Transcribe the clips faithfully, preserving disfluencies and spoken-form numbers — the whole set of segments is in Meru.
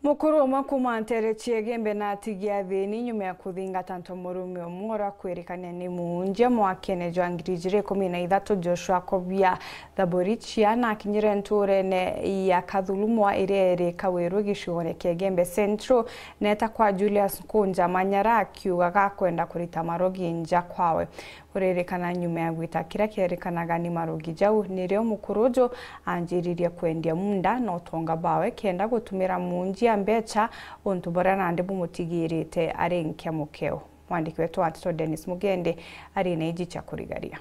Mukuru umwe kuuma nteere cia Igembe na atigia thiini nyuma ya kuthingata ntomurume umwe uria kwirikania ni muunjia mwakene jwa ngiri ijiri ikumi na ithatu, Joshua Kobia Thaburichia, na akinyire ntuurene ya Kathurumwa iria iri Kawiru gicigoone kia Igembe Central, neeta kwa Julius Nkunja Manyara akiugaga akwenda kurita marogi nja kwawe. Kuririkana nyuma ya gwita kiria kierikanaga ni marogi jau, nirio mukuru uju anjiririe kwendia muunda na utonga bwawe kenda gutumira muunjia mbecha, untu buria nandi bumutigirite ari nkia mukeo. Mwandiki wetu wa nteto Dennis Mugendi ari na iji cia kurigaria.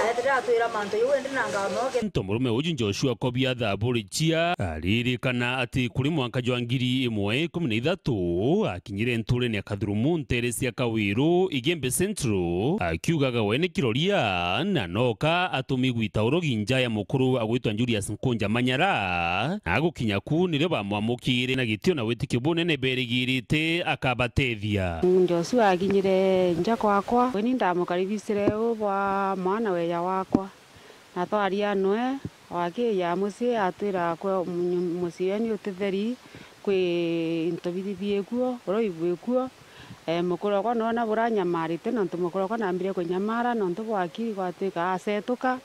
Aethire atwira mantu jau indi na nganoge. Ntomurume uju Joshua Kobia Thaburichia aririkana ati kuri mwanka jwa ngiri imwe ikumi na ithatu akinyire ntuurene ya Kathurumu nteere cia Kawiru, Igembe Central, akiugaga we ni kiroria na noka atumi gwita urogi nja ya mukuru agwitwa Julius Nkunja Manyara, na agukinya ku nirio bamwamukire na gitio na witikio bunene berigirite akabatethia. Joshua akinyire nja kwakwa, weni ndamukaribicire u bwa mwana weya wakwa, na twaria nwe, o akiija mucii atwira kwe mucii wenyu uti theri, kwi into bithi biikuo, uroi bwikuo. E, mukuru okwa noona buranyamarite, nontu mukuru okwa nambire kunyamara nontu bwa akiri gwatwika acetuka.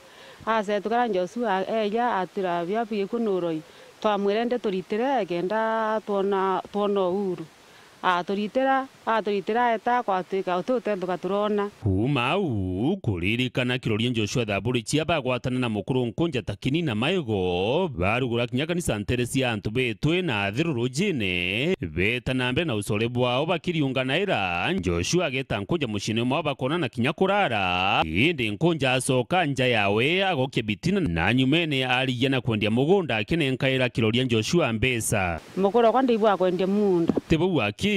Acetuka na Joshua eeja atwira bia biikuo ni uroi. Twamwira indi turitire kenda twona, twona uhuru. Aturitira, aturitira eeta gwatwika uti utentuka turona. Kuuma au, kuririkana kiroria Joshua Thaburichia bagwatana na mukuru Nkunja ta kini na maigo, barugura kinya kanisa nteere cia antu betwe na atheru rujine, beeta na mbere na ucore bwao bakiriunganaira. Joshua ageeta Nkunja muciine mwao bakoonana kinya kurara, indi Nkunja acoka nja yawe agokia bitina, na nyumene arigia na kwendia mugunda akinenkaira kiroria Joshua mbeca. Mukuru okwa ndibwa kwendia muunda. Ti bau aki,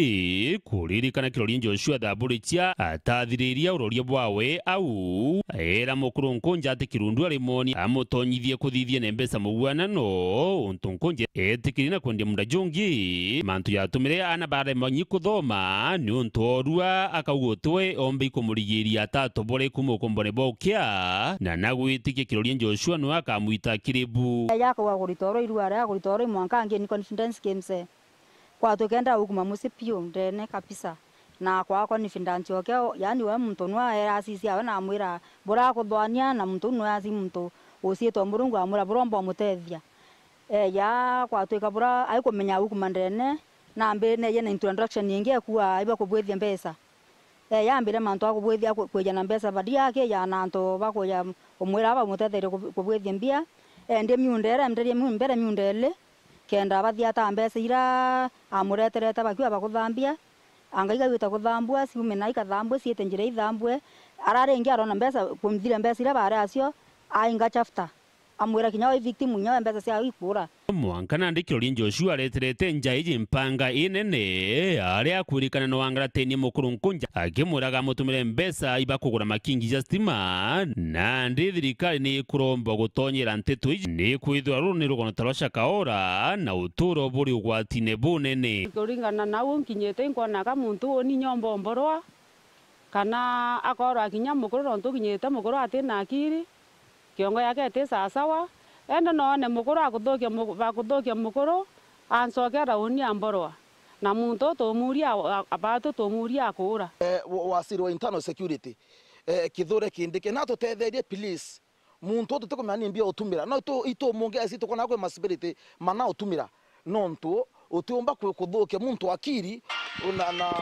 kuririkana kiroria Joshua Thaburichia atathiriria uroria bwawe au, eera mukuru Nkunja ati kirundu ari moni amutonyithie kuthithia na mbeca mugwanano, untu Nkunja eetikirie na kwendia muunda jungi, mantu jatumire aana barema nyi kuthoma, niuntu oorua akauga utiwe ombe ikumurigiria atatobore kuuma ukumbone bwa ukia, na nagwitikia kiroria Joshua niwe akamwita kiri bu. Eeja akauga kurita oro irua ria kurita oro imwanka angie ni confidence kimse. Kwatwika enda gukuma mucii piu ndene kabisa. Na kwaa confidence oke, yaani we muntu nwe aera asisi awe na amwira, "Bura kuthwania," na muntu uu nwe asi muntu uciitwa Murungu amwira, "Bura umba umutethia." Eeja kwatwika bura aikumenya gukuma ndene, nambi neeje na introduction ingi ekua aiba kubwithia mbeca. Ee, yambire mantu a kubwithia ku-, kwija na mbeca badia, akija na antu ba kuja umwira bamutetherie kubu-, kubwithia mbia. Eendie miunda iria, eenderie miu-, mbere miunda ili, kenda bathiata mbeca iria amureterete bakiuga bakuthambia. Anga igagwita kuthambua, ciume na ikathambue, ciite njira ithambue. Ara ringi arona mbeca, kumthira mbeca iria baari acio, ainga chapter. Amwira kinya wi victim inya we mbeca ciawe ikuura. Mwanka nandi kiroria Joshua areterete nja iji mpanga inene, aria akwirikana no angaratenie mukuru Nkunja, akimwiraga amutumire mbeca iba kugura makingi ja stima. Nandi thirikari ni ikuromba gutonyera nteto iji, ni kwithirwa ruru ni rugono ta rwa Shakaora, na uturo buri ugwatine bunene. Kuringana na uu nkinyite, inkwonaga muntu uni nyomba omborwa, kana akorwa kinya mukuru, nontu ukinyite mukuru ati na akiri, kiongo yake iti sawasawa. Ende noone mukuru akuthukia mu-, bakuthukia mukuru, ancoke rauni amborwa. Na muntu tumuria a-, a-, batu tumuria akuura. Eh, wa-, waziri wa internal security, eh, Kithure Kindiki, natutetherie please. Muntu uyu tutikumenya ni mbia utumira. No itu, itu mungesi tukona kwi ma spirit mana utumira. Nontu utiumba ku-, kuthukia muntu akiri, na, na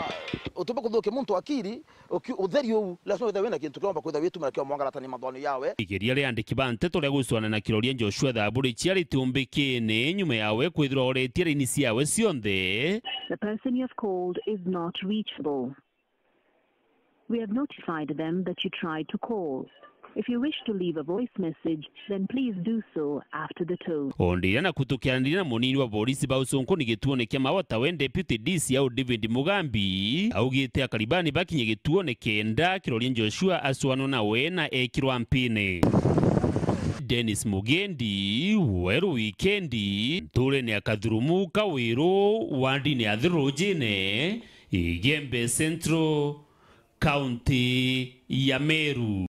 utiumba kuthukia muntu akiri, uki-, utheri uu, lazima withirwe wina kintu kiumba kwithirwa witumira kia mwangaratani mathwano yawe. Igeria ria andiki ba nteto ria gucwana na kiroria Joshua Thaburi ciari tiumbikine nyuma yawe kwithirwa oretie raini ciawe cionthe. The person you have called is not reachable. We have notified them that you tried to call. If you wish to leave a voice message, then please do so after the tone. O ndiria na kutukianiria na munini wa borisi ba Ucunkuni gituone kia Maua tawe Deputy D C au David Mugambi, augite akari bani bakinye gituone kenda kiroria Joshua acwanwa nawe na ekirwa mpine. Dennis Mugendi, Weru Wikendi, nturene ya Kathurumu Kawiru, wandine ya Thirujine, Igembe Central, kaunti ya Meru.